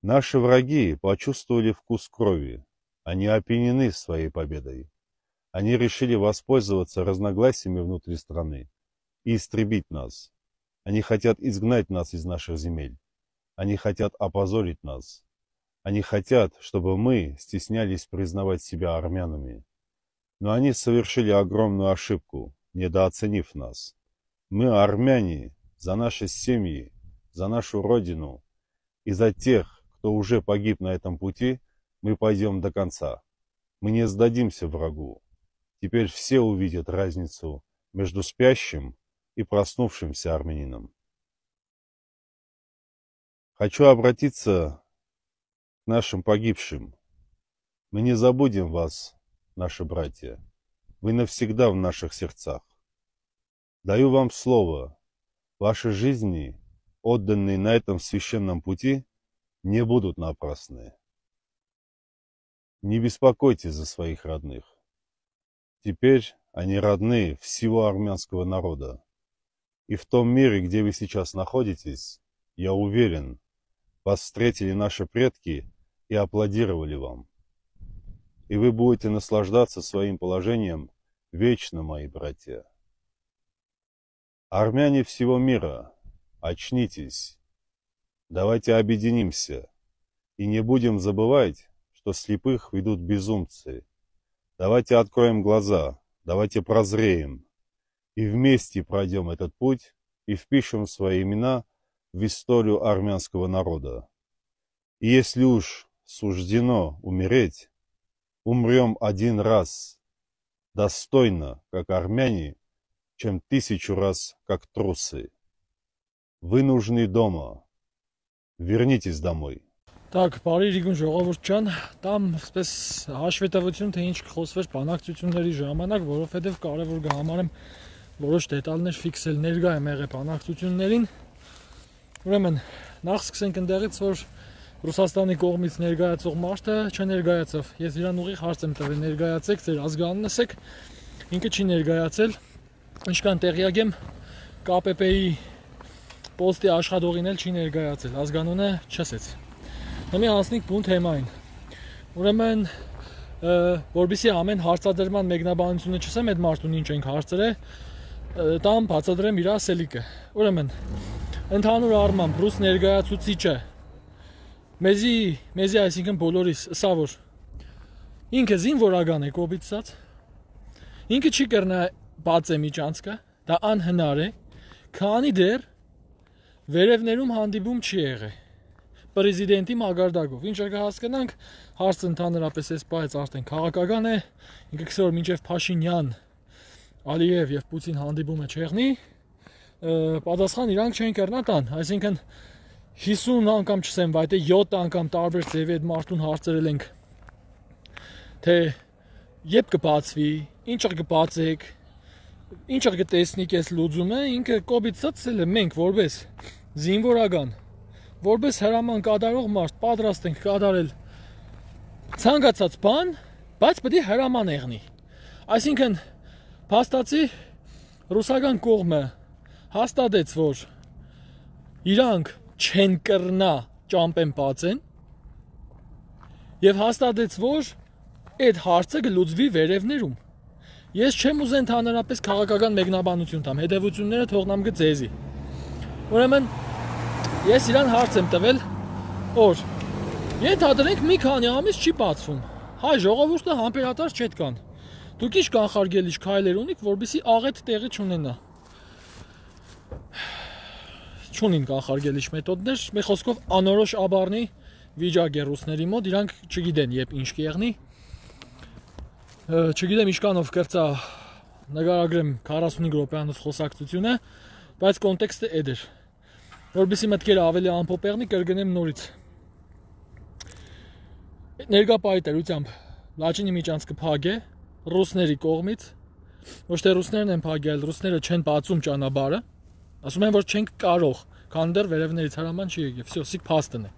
Наши враги почувствовали вкус крови. Они опьянены своей победой. Они решили воспользоваться разногласиями внутри страны и истребить нас. Они хотят изгнать нас из наших земель. Они хотят опозорить нас. Они хотят, чтобы мы стеснялись признавать себя армянами. Но они совершили огромную ошибку, недооценив нас. Мы, армяне, за наши семьи, за нашу родину и за тех, кто уже погиб на этом пути, мы пойдем до конца. Мы не сдадимся врагу. Теперь все увидят разницу между спящим и проснувшимся армянином. Хочу обратиться к нашим погибшим. Мы не забудем вас, наши братья. Вы навсегда в наших сердцах. Даю вам слово. Ваши жизни, отданные на этом священном пути, не будут напрасны. Не беспокойтесь за своих родных. Теперь они родные всего армянского народа. И в том мире, где вы сейчас находитесь, я уверен, вас встретили наши предки и аплодировали вам. И вы будете наслаждаться своим положением вечно, мои братья. Армяне всего мира, очнитесь. Давайте объединимся и не будем забывать, что слепых ведут безумцы. Давайте откроем глаза, давайте прозреем и вместе пройдем этот путь и впишем свои имена в историю армянского народа. И если уж суждено умереть, умрем один раз, достойно, как армяне, чем 1000 раз, как трусы. Вы нужны дома. Вернитесь домой. Так, բարի Իրիգուն ժողովուրդ ջան, տամ այսպես հաշվետվություն, թե ինչ կխոսվեր բանակցությունների ժամանակ, որովհետև կարևոր կհամարեմ որոշ դետալներ ֆիքսել ներկա եմ եղել բանակցություններին։ Ուրեմն, նախ սկսենք ընդեղից, որ Ռուսաստանի կողմից ներկայացող մարդը չներկայացավ։ Ես իրան ուղիղ հարց եմ տվել, ներկայացեք, ձեր ազգանունն ասեք, ինքը չի ներկայացել։ Ինչքան տեղյակ եմ, ԿՊՊ-ի պոստի աշխատողին էլ չի ներկայացել, ազգանունը չասեց։ Հիմա հասնենք բուն թեմային։ Ուրեմն, որբիսի ամեն հարցադրման մեկնաբանությունը չասեմ այդ մարդուն ինչ ենք հարցրել, տամ բացատրեմ իր ասելիքը։ Ուրեմն, ընդհանուր առմամբ ռուս ներկայացուցիչը մեզի այսինքն բոլորիս սա որ ինքը զինվորական է կոպիտ ասած, ինքը չի կրնա բացե միջանցքը, դա անհնար է, քանի դեռ վերևներում հանդիպում չի եղել պրեզիդենտի մագարտակով, ինչ կհասկանանք, հարցը ընդհանրապես այս պահից արդեն քաղաքական է, ինքը քսոր մինչև Փաշինյան, Ալիև եւ Պուտին հանդիպումը չեղնի, պատասխան իրանք չեն կրնա տան, այսինքն 50 անգամ չսեմ, բայց 7 անգամ տարբեր ձևի այդ մարդուն հարցրել ենք, թե երբ կբացվի, ինչը կբացեք, ինչը կտեսնիկ այս լուծումը, ինքը կոպիտ ցածել է մենք որպես զինվորական, որպես հրաման կատարող մարդ պատրաստ ենք կատարել ցանկացած բան, բայց պետք է հրաման եղնի։ Այսինքն փաստացի ռուսական կողմը հաստատեց, որ իրանք չեն կրնա ճամպեն բացեն եւ հաստատեց, որ այդ հարցը կլուծվի վերևներում։ Ես չեմ ուզեն ընդհանրապես քաղաքական մեկնաբանություն տամ, հետևությունները թողնամ գծեզի։ Ուրեմն ես իրան հարց եմ տվել, որ ենթադրենք մի քանի ամիս չի բացվում, հայ ժողովուրդը համբերատար չետկան, դուք ինչ կանխարգելիչ քայլեր ունիք, որպեսզի աղետ տեղի չունենա։ Չունին կանխարգելիչ մեթոդներ, մի խոսքով անորոշ աբառնի վիճակ է ռուսների մոտ, իրանք չգիտեն երբ ինչ կեղնի, չգիտեմ ինչքանով կրծա նկարագրեմ 45 րոպեանոց խոսակցությունը, բայց կոնտեքստը էդ էր։ Որպեսզի մտքերը ավելի ամփոփ եղնի, կրկնեմ նորից։ Ներկա պայտերությամբ Լաչինի միջանցքը փակ է ռուսների կողմից, ոչ թե ռուսներն են փակել, ռուսները չեն բացում ճանապարհը, ասում են, որ չենք կարող, քան դեռ վերևներից հրաման չի եկել, վсё, սիկ փաստն է։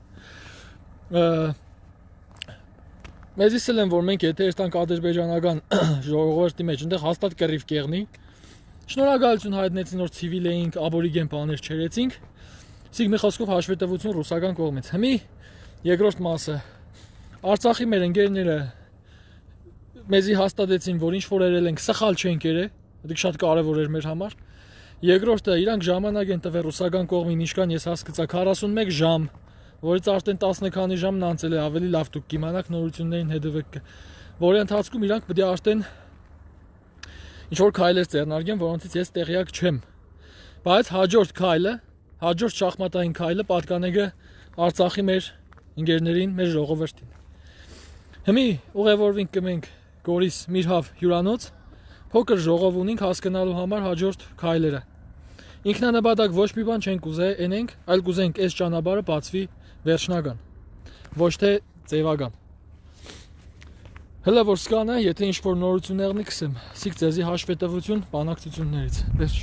Մեզ իսել են, որ մենք եթե երթանք ադրբեջանական ժողովրդի մեջ, այնտեղ հաստատ կռիվ կեղնի։ Շնորհակալություն հայտնեցին, որ ցիվիլ էինք, աբորիգեն բաներ չերեցինք։ Սիկ մի խոսքով հաշվետվություն ռուսական կողմից։ Հիմի Երկրորդ մասը Արցախի մեր ընկերները մեզի հաստատեցին, որ ինչ որ երել ենք, սխալ չենք երել, դա շատ կարևոր էր մեր համար։ Երկրորդը իրանք ժամանակ են տվել ռուսական կողմին, ինչքան ես հասկացա 41 ժամ, որից արդեն 10 քանի ժամն անցել է, ավելի լավ դուք կիմանաք նորություններին հետևեք, որի ընթացքում իրանք պետք է արդեն ինչ որ քայլեր ձեռնարկեն, որոնցից ես տեղյակ չեմ։ Բայց հաջորդ քայլը, հաջորդ շախմատային քայլը պատկանեգը Արցախի մեր ընկերներին, մեր ժողովրդին։ Հիմի ուղևորվենք կմենք Գորիս Միրհավ հյուրանոց, փոքր ժողով ունենք հասկանալու համար հաջորդ քայլերը։ Ինքնանպատակ ոչ մի բան չենք ուզե ենենք, այլ կուզենք այս ճանապարհը բացվի վերջնական, ոչ թե ձևական։ Հələ որ սկանա, եթե ինչ որ նորություններ կսեմ, սիկ ձեզի հաշվետվություն բանակցություններից։ Վերջ։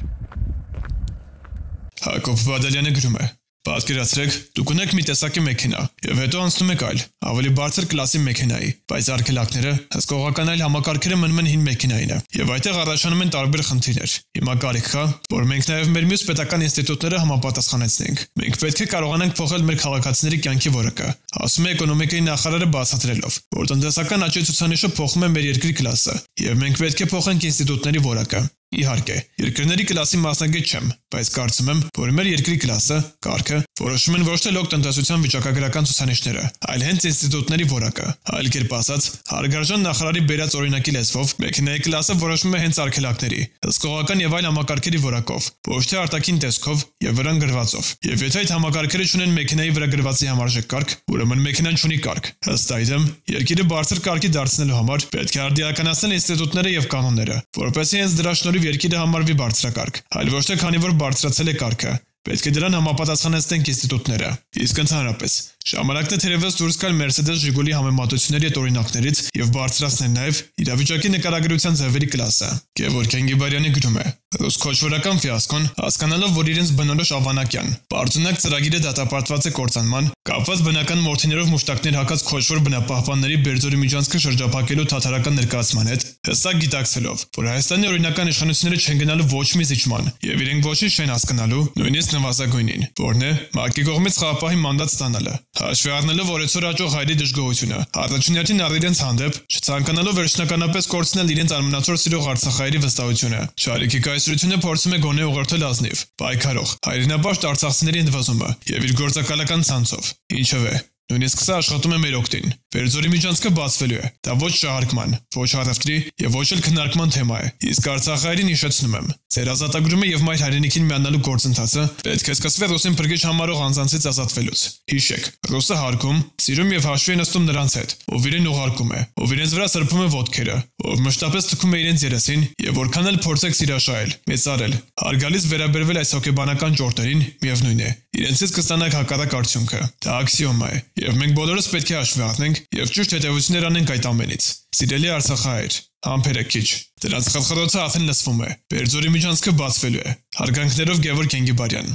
Հակոբ Բադալյանը գրում է. Պատկերացրեք, դուք ունեք մի տեսակի մեքենա, եւ հետո անցնում եք այլ, ավելի բարձր կլասի մեքենայի, բայց արգելակները, հսկողական այլ համակարգերը մնում են հին մեքենայինը, եւ այդտեղ առաջանում են տարբեր խնդիրներ։ Հիմա կարիք կա, որ մենք նաեւ մեր մյուս պետական ինստիտուտները համապատասխանեցնենք։ Մենք պետք է կարողանանք փոխել մեր քաղաքացիների կյանքի որակը, ասում է էկոնոմիկայի նախարարը բացատրելով, որ տնտեսական աճի ցուցանիշը փոխում է մեր երկրի կլասը, եւ մենք պետք է փոխենք ինստիտուտների որակը։ Իհարկե, երկրների կլասի մասնագետ չեմ, բայց կարծում եմ, որ մեր երկրի կլասը, կարգը, որոշում են ոչ թե լոկ տնտեսության վիճակագրական ցուցանիշները, այլ հենց ինստիտուտների որակը։ Այլ կերպ ասած, հարգարժան նախարարի բերած օրինակի լեզվով, մեքենայի կլասը որոշվում է հենց արգելակների, հսկողական եւ այլ համակարգերի որակով, ոչ թե արտաքին տեսքով եւ վրան գրվածով։ Եվ եթե այդ համակարգերը չունեն մեքենայի վրա գրվածի համարժեք կարգ, ուրեմն մեքենան չունի կարգ։ Ըստ այդմ, երկիրը բարձր կարգի դարձնելու համար պետք է արդիականացնել ինստիտուտները եւ կանոնները, որովհետեւ հենց դրա շնորհիվ երկիրը համարվի բարձրակարգ, այլ ոչ թե քանի որ բարձրացել է կարգը։ Պետք է դրան համապատասխանեցնենք ինստիտուտները։ Իսկ ընդհանրապես, ժամանակն է թերևս դուրս գալ Mercedes Ժիգուլի համեմատությունների այդ օրինակներից եւ բարձրացնել նաեւ իրավիճակի նկարագրության ձևերի կլասը։ Գևորգ Ենգիբարյանը գրում է. Ռուս քոչվորական ֆիասկոն, հասկանալով, որ իրենց բնորոշ ավանակյան, բարձունակ ծրագիրը դատապարտված է կործանման, կապված բնական մորթիներով մուշտակներ հակած քոչվոր բնապահպանների Բերձորի միջանցքը շրջափակելու թաթարական ներկայացման հետ, հստակ գիտակցելով, որ Հայաստանի օրինական իշխանությունները չեն գնալու ոչ մի զիջման եւ իրենք ոչինչ չեն հասկանալու, նույնիսկ նվազագույնին, որն է ՄԱԿ-ի կողմից խաղապահի մանդատ ստանալը։ Հաշվի առնելով օրեցօր աճող հայերի դժգոհությունը, առաջնորդին առ իրենց հանդեպ, չցանկանալով վերջնականապես կորցնել իրենց արմնացոր սիրող արցախայերի վստահությունը, շարիքի կայսրությունը փորձում է գոնե ուղղորդել ազնիվ, պայքարող, հայրենապաշտ արցախցիների ընդվազումը եւ իր գործակալական ցանցով։ Ինչևէ, նույնիսկ սա աշխատում է մեր օգտին։ Բերձորի միջանցքը բացվելու է։ Դա ոչ շահարկման, ոչ առևտրի եւ ոչ էլ քննարկման թեմա է։ Իսկ արցախայերին հիշեցնում եմ, ձեր ազատագրումը եւ մայր հայրենիքին միանալու գործընթացը պետք է սկսվի ռուսին փրկիչ համարող անձանցից ազատվելուց։ Հիշեք, ռուսը հարգում, սիրում եւ հաշվի է նստում նրանց հետ, ով իրեն ուղարկում է, ով իրենց վրա սրբում է ոտքերը, ով մշտապես թքում է իրենց երեսին եւ որքան էլ փորձեք սիրաշահել, մեծարել, հարգալից վերաբերվել այս հոգեբանական ճորտերին, միևնույն է, իրենցից կստանաք հակառակ արդյունքը։ Դա աքսիոմա է։ Եվ մենք բոլորս պետք է հաշվի առնենք եւ ճիշտ հետևություններ անենք այդ ամենից։ Սիրելի արցախահայեր, համբերեք քիչ։ Դրանց խրխրոցը արդեն լսվում է։ Բերձորի միջանցքը բացվելու է։ Հարգանքներով Գևորգ Ենգիբարյան։